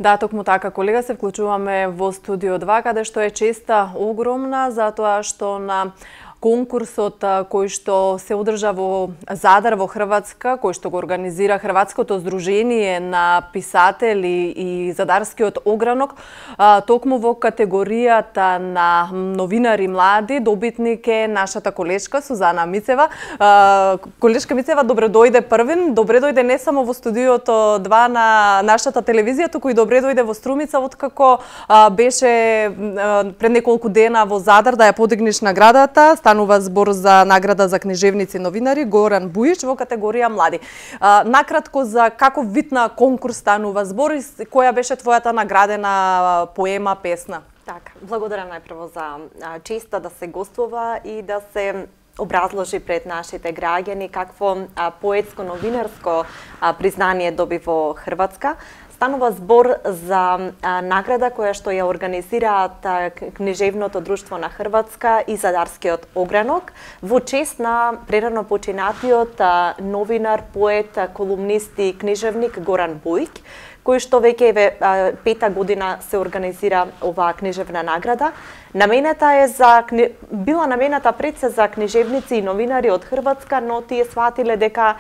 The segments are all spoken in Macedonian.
Да, токму така, колега, се вклучуваме во студио 2, каде што е честа огромна, затоа што на конкурсот кој што се одржа во Задар во Хрватска, кој што го организира Хрватското здружение на писатели и Задарскиот огранок, токму во категоријата на новинари млади, добитник е нашата колешка Сузана Мицева. Колешка Мицева, добре дојде првин, добре дојде не само во студиото 2 на нашата телевизија, туку и добре дојде во Струмица, откако беше пред неколку дена во Задар да ја подигнеш наградата. Станува збор за награда за книжевници и новинари Горан Бујич во категорија млади. Накратко за каков вид на конкурс станува збор и која беше твојата наградена поема, песна? Така, благодарам најпрво за честа да се гостува и да се образложи пред нашите граѓани какво поетско-новинарско признание доби во Хрватска. Станува збор за награда која што ја организираат Книжевното друштво на Хрватска и Задарскиот огранок во чест на прерано починатиот новинар, поет, колумнист и книжевник Горан Бујик, кој што веќе пета година се организира оваа книжевна награда. Била намената пред се за книжевници и новинари од Хрватска, но тие сватиле дека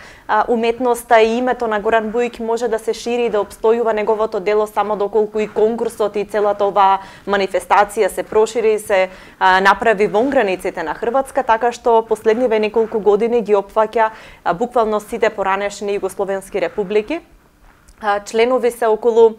уметноста и името на Горан Бујик може да се шири и да обстојува неговото дело само доколку и конкурсот и целата оваа манифестација се прошири и се направи вон границите на Хрватска, така што последниве неколку години ги опфаќа буквално сите поранешни југословенски републики. Членови се околу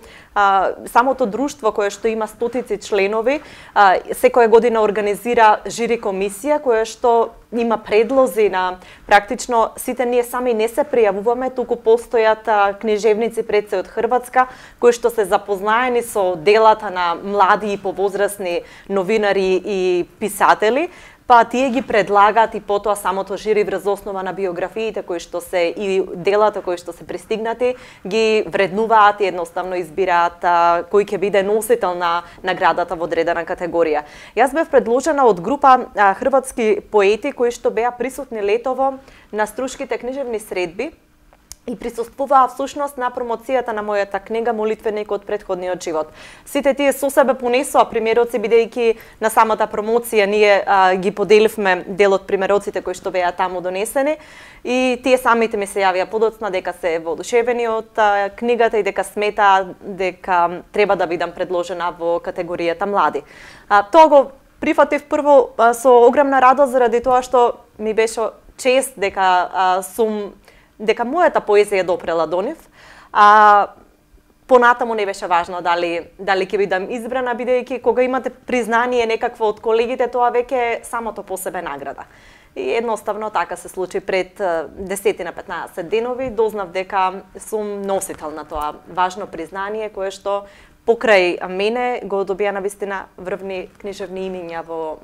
самото друштво кое што има стотици членови, секоја година организира жири комисија која што има предлози на практично сите ние сами не се пријавуваме, туку постојат книжевници пред се од Хрватска кои што се запознаени со делата на млади и повозрасни новинари и писатели, па тие ги предлагаат и потоа самото жири врз основа на биографиите кои што се и делата кои што се пристигнати ги вреднуваат и едноставно избираат кој ќе биде носител на наградата во одредена категорија. Јас бев предложена од група хрватски поети кои што беа присутни летово на Струшките книжевни средби и присуствуваа всушност на промоцијата на мојата книга Молитвеник од претходниот живот. Сите тие со себе понесоа примероци, бидејќи на самата промоција ние ги поделивме дел од примероците кои што беа таму донесени и тие самите ми се јавија подоцна дека се воодушевени од книгата и дека сметаа дека треба да бидам предложена во категоријата млади. Тоа го прифатив прво со огромна радост заради тоа што ми беше чест дека мојата поезија допрела до нив. Понатаму не беше важно дали ќе бидам избрана, бидејќи кога имате признание некакво од колегите, тоа веќе е самото по себе награда. И едноставно така се случи пред 10 на 15 денови, дознав дека сум носител на тоа важно признание кое што покрај мене го добија навистина врвни книжевни имиња во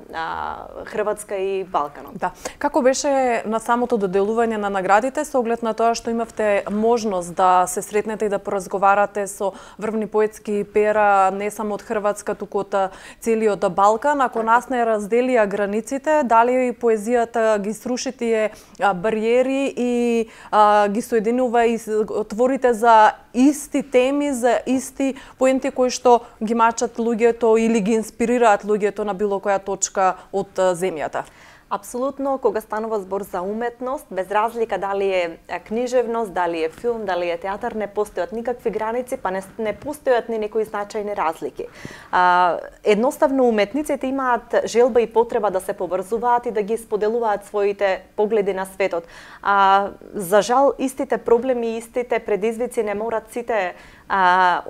Хрватска и Балканот. Да. Како беше на самото доделување на наградите со оглед на тоа што имавте можност да се сретнете и да поразговарате со врвни поетски пера не само од Хрватска, туку од целиот Балкан, ако нас не разделија границите, дали и поезијата ги сруши тие бариери и ги соединува и отворите за исти теми, за исти поенти кои што ги мачат луѓето или ги инспирираат луѓето на било која точка од земјата? Апсолутно, кога станува збор за уметност, без разлика дали е книжевност, дали е филм, дали е театар, не постојат никакви граници, па не постојат ни некои значајни разлики. Едноставно, уметниците имаат желба и потреба да се поврзуваат и да ги споделуваат своите погледи на светот. За жал, истите проблеми, истите предизвици не морат сите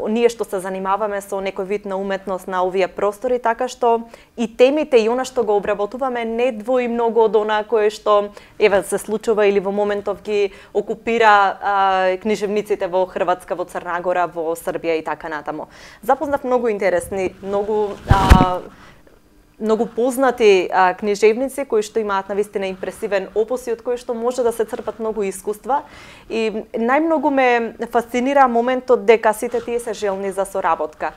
ние што се занимаваме со некој вид на уметност на овие простори, така што и темите и она што го обработуваме не двои многу од она кое што се случува или во моментов ги окупира книжевниците во Хрватска, во Црна Гора, во Србија и така натаму. Запознав многу интересни, многу познати книжевници кои што имаат навистина импресивен опус и од кои што може да се црпат многу искуства. И најмногу ме фасцинира моментот дека сите тие се желни за соработка.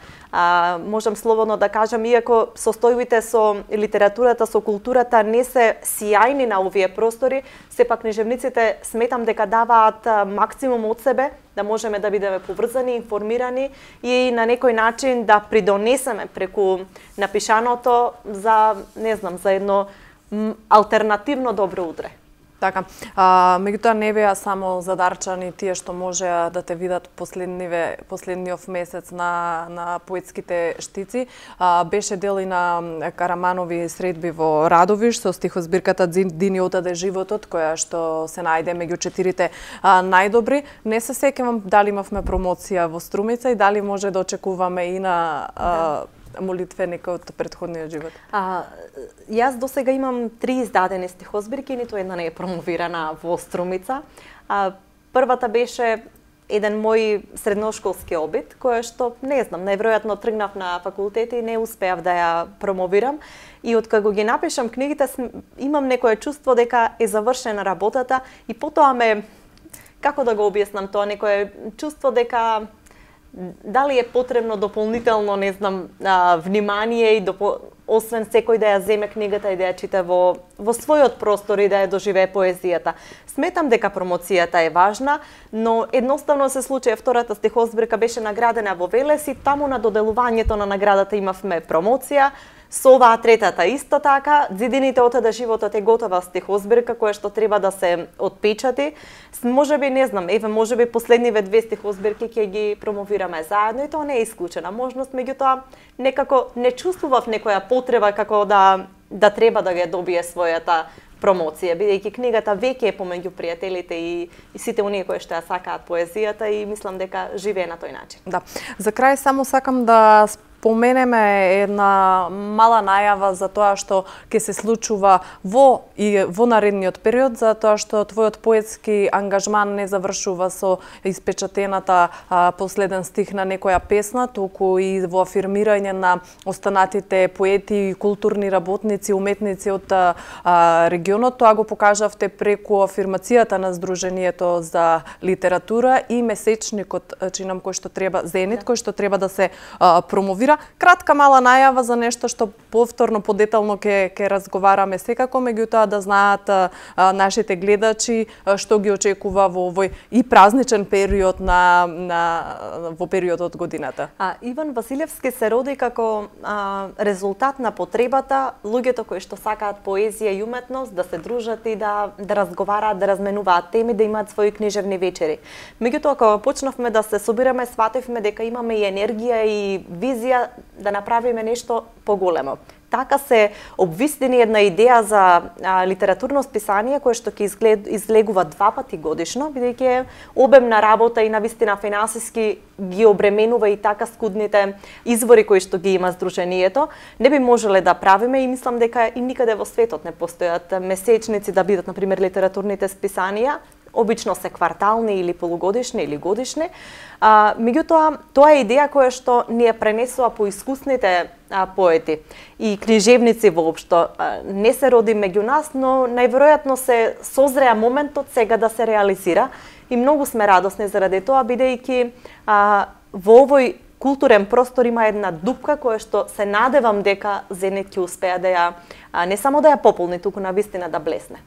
Можам слободно да кажам, иако состојбите со литературата, со културата не се сјајни на овие простори, сепак книжевниците сметам дека даваат максимум од себе да можеме да бидеме поврзани, информирани и на некој начин да придонесеме преку напишаното за, не знам, за едно алтернативно добро утре. Така, меѓутоа не беа само задарчани тие што можеа да те видат последниот месец на поетските штици. Беше дел и на Караманови средби во Радовиш со стихозбирката Дини отаде животот, која што се најде меѓу 4 најдобри. Не се сеќавам дали имавме промоција во Струмица и дали може да очекуваме и на молитвеник од претходниот живот? Јас досега имам 3 издадени стихозбирки, ниту една не е промовирана во Струмица. Првата беше еден мој средношколски обид, која што, не знам, најверојатно тргнав на факултет и не успеав да ја промовирам. И откако ги напишам книгите, имам некое чувство дека е завршена работата и потоа како да го објаснам тоа, некое чувство дека дали е потребно дополнително, не знам, внимание и освен секој да ја земе книгата и да ја чита во својот простор и да ја доживее поезијата. Сметам дека промоцијата е важна, но едноставно се случи втората стихозбирка беше наградена во Велес и таму на доделувањето на наградата имавме промоција. Со оваа третата исто така, Зидините отаде животот е готова стихозбирка која што треба да се отпечати. Можеби, не знам, можеби последниве 2 стихозбирки ќе ги промовираме заедно и тоа не е исклучена можност, меѓутоа некако не чувствував некоја потреба како да треба да ја добие својата промоција, бидејќи книгата веќе е помеѓу пријателите и сите оние кои што ја сакаат поезијата и мислам дека живее на тој начин. Да. За крај само сакам да споменеме една мала најава за тоа што ќе се случува во наредниот период, за тоа што твојот поетски ангажман не завршува со испечатената последен стих на некоја песна, туку и во афирмирање на останатите поети и културни работници, уметници од регионот. Тоа го покажавте преку афирмацијата на Сдруженијето за литература и месечникот, чинам, кој што треба, Зенит, кој што треба да се промовира. Кратка мала најава за нешто што повторно подетално ќе разговараме секако, меѓутоа да знаат нашите гледачи што ги очекува во овој и празничен период во периодот од годината. Иван Василевски се роди како резултат на потребата луѓето кои што сакаат поезија и уметност да се дружат и да разговараат, да разменуваат теми, да имаат своји книжевни вечери. Меѓутоа кога почнавме да се собираме, сватевме дека имаме и енергија и визија да направиме нешто поголемо. Така се обвистени една идеја за литературно списание кое што ќе излегува 2 пати годишно, бидејќи е обемна работа и навистина финансиски ги обременува и така скудните извори кои што ги има Сдруженијето. Не би можеле да правиме и мислам дека и никаде во светот не постојат месечници да бидат, например, литературните списанија. Обично се квартални или полугодишни или годишни. Меѓутоа, тоа е идеја која што ни ја пренесува по искусните поети и книжевници воопшто. Не се роди меѓу нас, но најверојатно се созреа моментот сега да се реализира и многу сме радосни заради тоа, бидејќи во овој културен простор има една дупка која што се надевам дека Зенит ќе успеа да ја не само да ја пополни, туку навистина да блесне.